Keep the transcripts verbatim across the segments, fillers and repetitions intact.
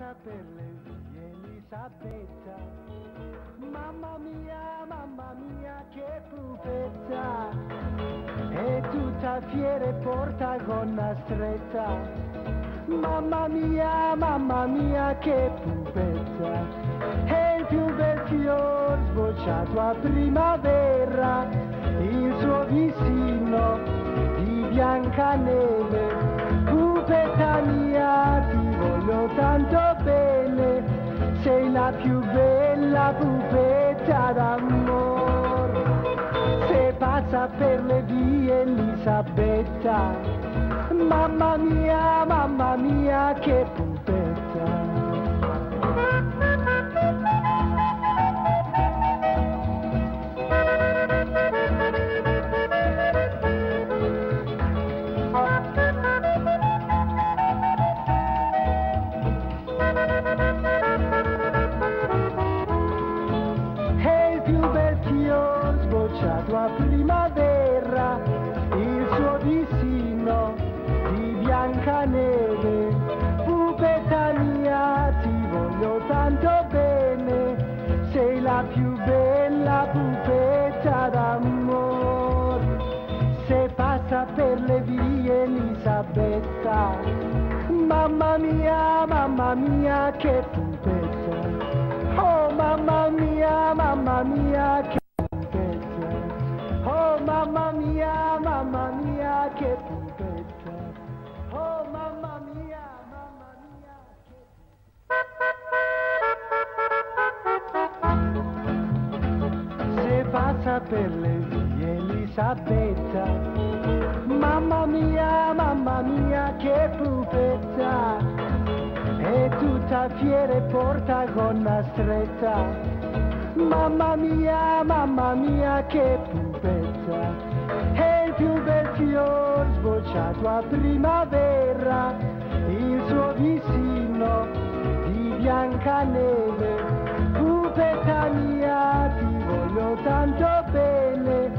passa per le vie Elisabetta. Mamma mia, mamma mia, che pupetta, è tutta fiera e porta gonna stretta. Mamma mia, mamma mia, che pupetta, è il più bel fior sbocciato a primavera, il suo vicino di Biancaneve. Pupetta mia, ti voglio tanto bene, sei la più bella pupetta d'amor. Se passa per le vie Elisabetta, mamma mia, mamma mia, che pupetta. A primavera, il suo vicino di Biancaneve. Pupetta mia, ti voglio tanto bene, sei la più bella pupetta d'amor. Se passa per le vie Elisabetta, mamma mia, mamma mia, che pupetta. Oh mamma mia, mamma mia, che oh mamma mia, mamma mia, che pupetta. Oh mamma mia, mamma mia, che... Se passa per le vie Elisabetta, mamma mia, mamma mia, che pupetta, è tutta fiera e porta gonna stretta. Mamma mia, mamma mia, che pupetta, è il più bel fior sbocciato a primavera, il suo vicino di Biancaneve. Pupetta mia, ti voglio tanto bene,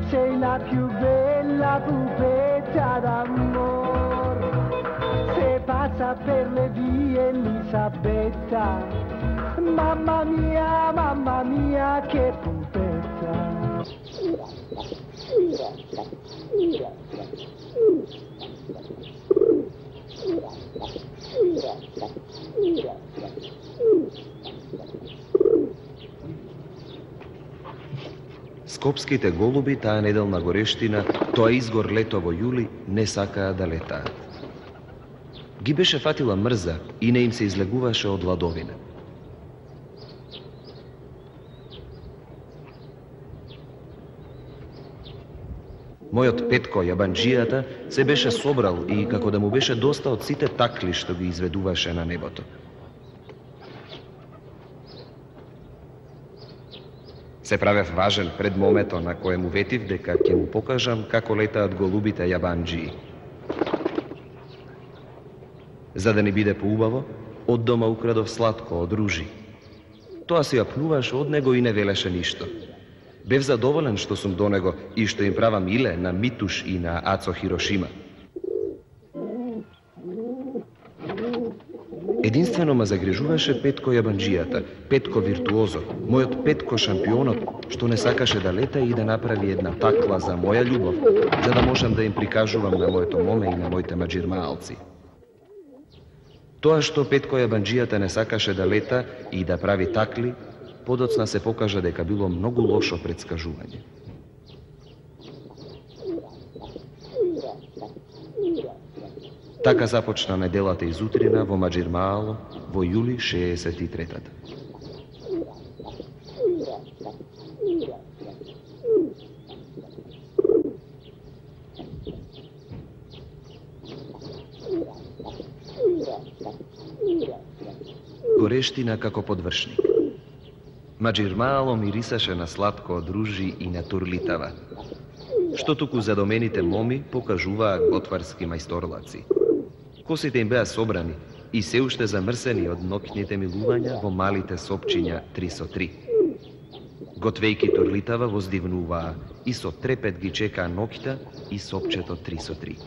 sei la più bella pupetta d'amor. Se passa per le vie Elisabetta, mamma mia, mamma mia, che pupetta. Скопските голуби таа неделна горештина, тоа изгор лето во јули, не сакаа да летаат. Ги беше фатила мрза и не им се излегуваше од ладовина. Мојот Петко јабанџијата се беше собрал и како да му беше доста од сите такли што ги изведуваше на небото. Се правев важен пред момето на кое му ветив дека ќе му покажам како летаат голубите јабанџии. За да не биде поубаво, од дома украдов сладко од ружи. Тоа се јапнуваше од него и не велеше ништо. Бев задоволен што сум до него и што им правам иле на Митуш и на Ацо Хирошима. Единствено ме загрижуваше Петко јабанџијата, Петко виртуозо, мојот Петко шампионот, што не сакаше да лета и да направи една такла за моја љубов, за да можам да им прикажувам на моето моме и на моите маџирмаалци. Тоа што Петко јабанџијата не сакаше да лета и да прави такли, подоцна се покажа дека било многу лошо претскажување. Така започна неделата изутрина во Маџирмаало во јули шеесет и третата. Горештина како подвршник. Маџирмаало мирисаше на сладко од ружи и на турлитава, што туку задомените моми покажуваа готварски мајсторлаци. Косите им беа собрани и се уште замрсени од ноќните милувања во малите сопчиња три со три. Готвејки турлитава воздивнуваа и со трепет ги чекаа ноќта и сопчето три со три.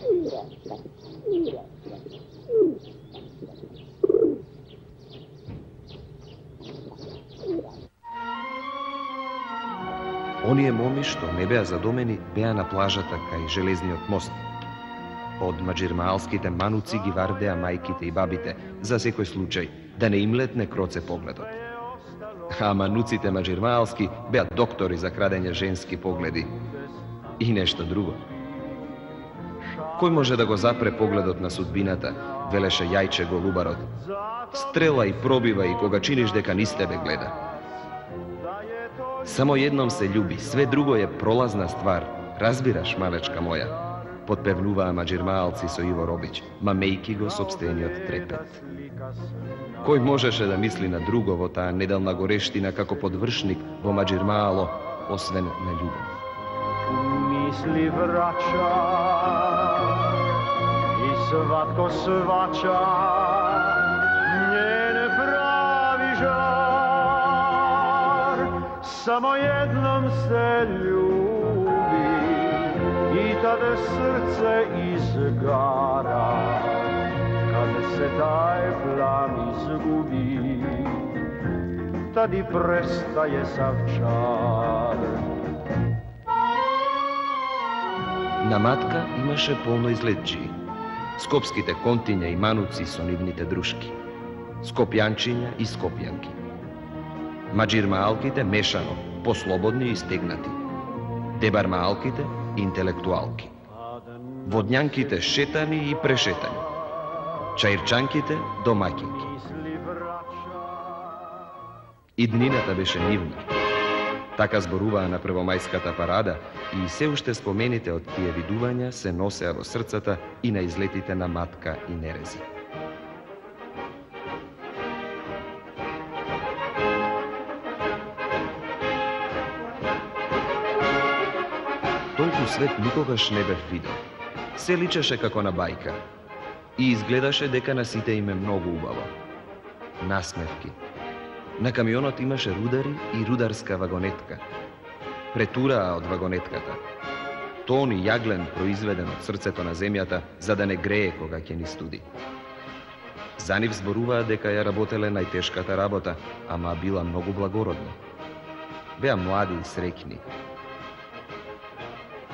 што не беа задомени беа на плажата кај железниот мост. Од маџирмаалските мануци ги вардеа мајките и бабите, за секој случај, да не им летне кроце погледот. А мануците маџирмаалски беа доктори за крадење женски погледи. И нешто друго. Кој може да го запре погледот на судбината, велеше Јајче Голубарот. Стрела и пробива и кога чиниш дека низ тебе гледа. Само едном се љуби, све друго е пролазна ствар. Разбираш, малечка моја? Подпевнуваа маџирмаалци со Иво Робич, мамејки го сопствениот трепет. Кој можеше да мисли на друго во таа неделна горештина како подвршник во маџирмаало, освен на љубов? Мисли врача и сватко свача, нjen прави жар. Само едном се љуби и таде срце изгара. Каде се тај плам изгуби, тади престае сав чар. На Матка имаше полно излетчии. Скопските контиња и мануци со нивните друшки. Скопјанчиња и скопјанки. Маџирмаалките мешано, послободни и стегнати. Дебармаалките интелектуалки. Водњанките шетани и прешетани. Чаирчанките домаќинки. Иднината беше нивна. Така зборуваа на првомајската парада и се уште спомените од тие видувања се носеа во срцата и на излетите на Матка и Нерези. Толку свет никогаш не бев видел. Се личеше како на бајка и изгледаше дека на сите им е многу убаво. Насмевки. На камионот имаше рудари и рударска вагонетка. Претураа од вагонетката. Тон и јаглен произведен од срцето на земјата, за да не грее кога ќе ни студи. За нив зборуваа дека ја работеле најтешката работа, ама била многу благородна. Беа млади и среќни.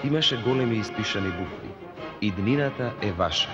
Имаше големи испишани букви. Иднината е ваша.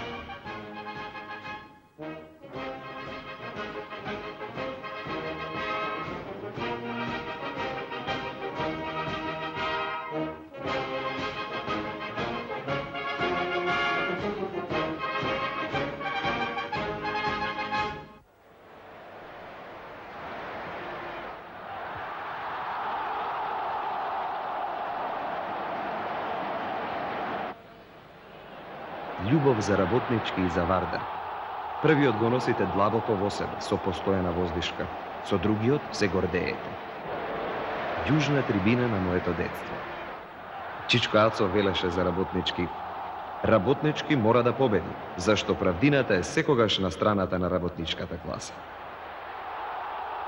Љубов за работнички и за Вардар. Првиот го носите длабоко во себе, со постојана воздишка. Со другиот се гордеете. Јужна трибина на моето детство. Чичко Ацо велеше за работнички. Работнички мора да победи, зашто правдината е секогаш на страната на работничката класа.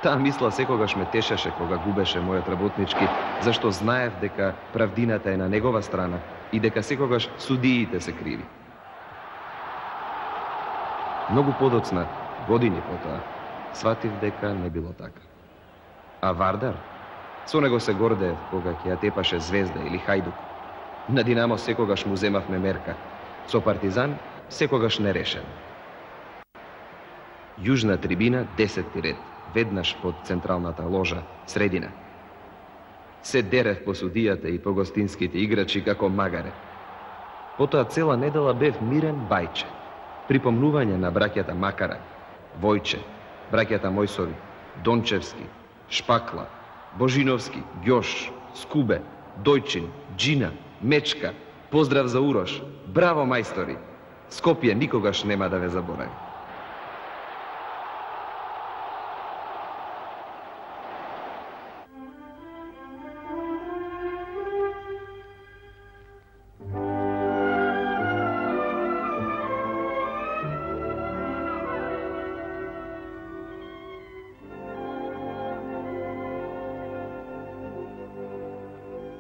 Таа мисла секогаш ме тешеше кога губеше мојот работнички, зашто знаев дека правдината е на негова страна и дека секогаш судиите се криви. Многу подоцна, години потоа, сватив дека не било така. А Вардар? Со него се гордеев кога ќе ја тепаше Звезда или Хајдук. На Динамо секогаш му земавме мерка, со Партизан секогаш нерешен. Јужна трибина, десетти ред, веднаш под централната ложа, средина. Се дерев по судијата и по гостинските играчи како магаре. Потоа цела недела бев мирен бајче. Припомнување на браќата Макара, Војче, браќата Мојсови, Дончевски, Шпакла, Божиновски, Ѓош, Скубе, Дојчин, Джина, Мечка, поздрав за Урош, браво мајстори! Скопје никогаш нема да ве заборави.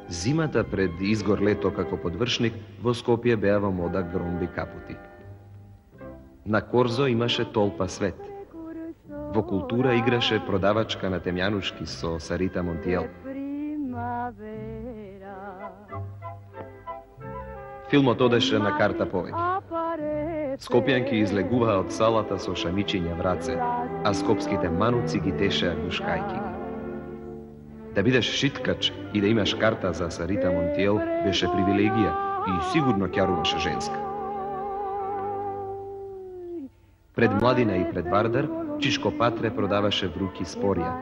Зимата пред изгор лето како подвршник во Скопје беа во мода громби капути. На Корзо имаше толпа свет. Во култура играше продавачка на темјанушки со Сарита Монтиел. Филмот одеше на карта повеќе. Скопјанки излегуваа од салата со шамичиња в раце, а скопските мануци ги тешеа ѓушкајки ги. Да бидеш шиткач и да имаш карта за Сарита Монтиел беше привилегија и сигурно ќаруваше женска. Пред Младина и пред Вардар, Чичко Патре продаваше вруки спорија.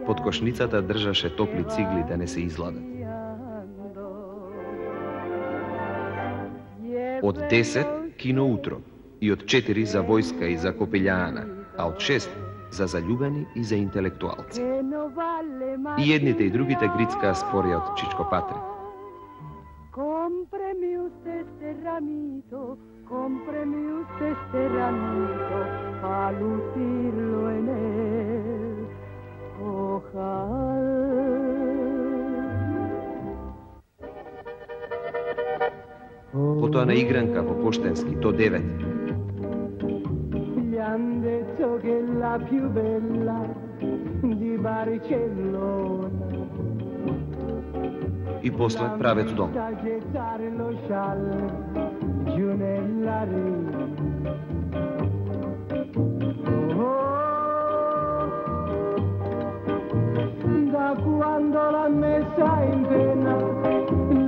Под кошницата држаше топли цигли да не се изладат. Од десет кино утро и од четири за војска и за копелјаана, а од шест за заљубени и за интелектуалци. И едните и другите грицкаа спорија од Чичко Патре. Compremi usted este ramito, compremi usted este ramito, a lucirlo en el ojal. Потоа на игранка во Поштенски до девет. Gli han detto che è la più bella di Barcellona. И после правец дом. Da quando l'ha messa in pena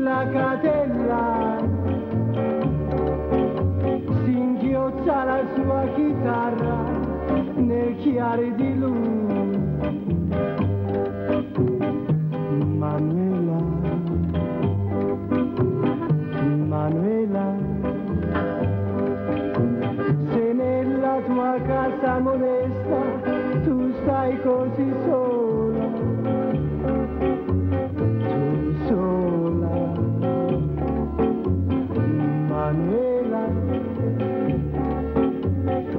la catella, si inchiozza la sua chitarra nel chiare di lui. Manuela, Manuela, se nella tua casa modesta tu stai così sola, tu sola, Manuela,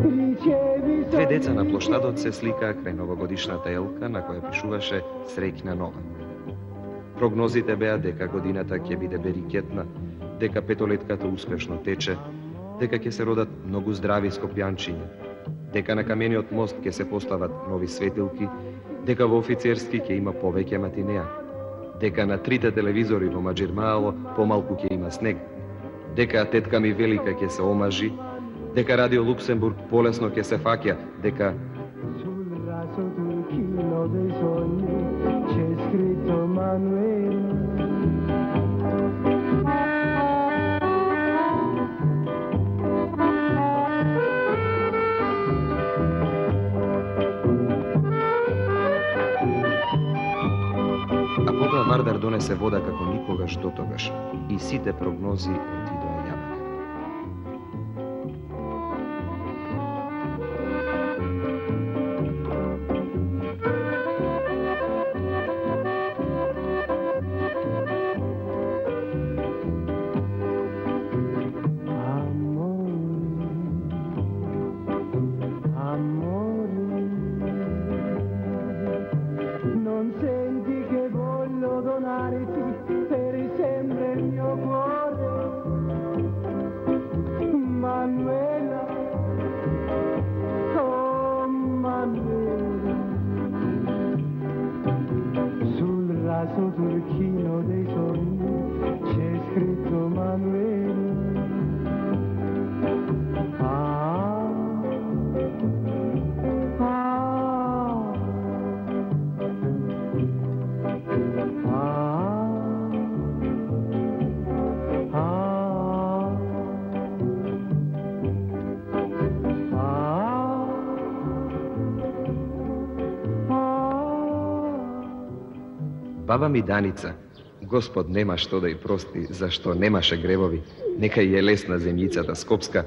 ricevi Две деца на плоштадот се сликаа крај новогодишната елка на која пишуваше Среќна нова. Прогнозите беа дека годината ќе биде берикетна, дека петолетката успешно тече, дека ќе се родат многу здрави скопјанчиња, дека на камениот мост ќе се постават нови светилки, дека во офицерски ќе има повеќе матинеа, дека на трите телевизори во Маџирмаало помалку ќе има снег, дека тетка ми велика ќе се омажи, дека Радио Луксембург полесно ќе се фаќа, дека sul raso turchino dei sogni c'è scritto Manuela. А потоа Вардар донесе вода како никогаш дотогаш и сите прогнози отидоа јабак. Turchino dei sogni c'è scritto Manuela. Ah, ah, Баба ми Даница, Господ нема што да ја прости, зашто немаше гревови, нека ја е лесна земјицата скопска,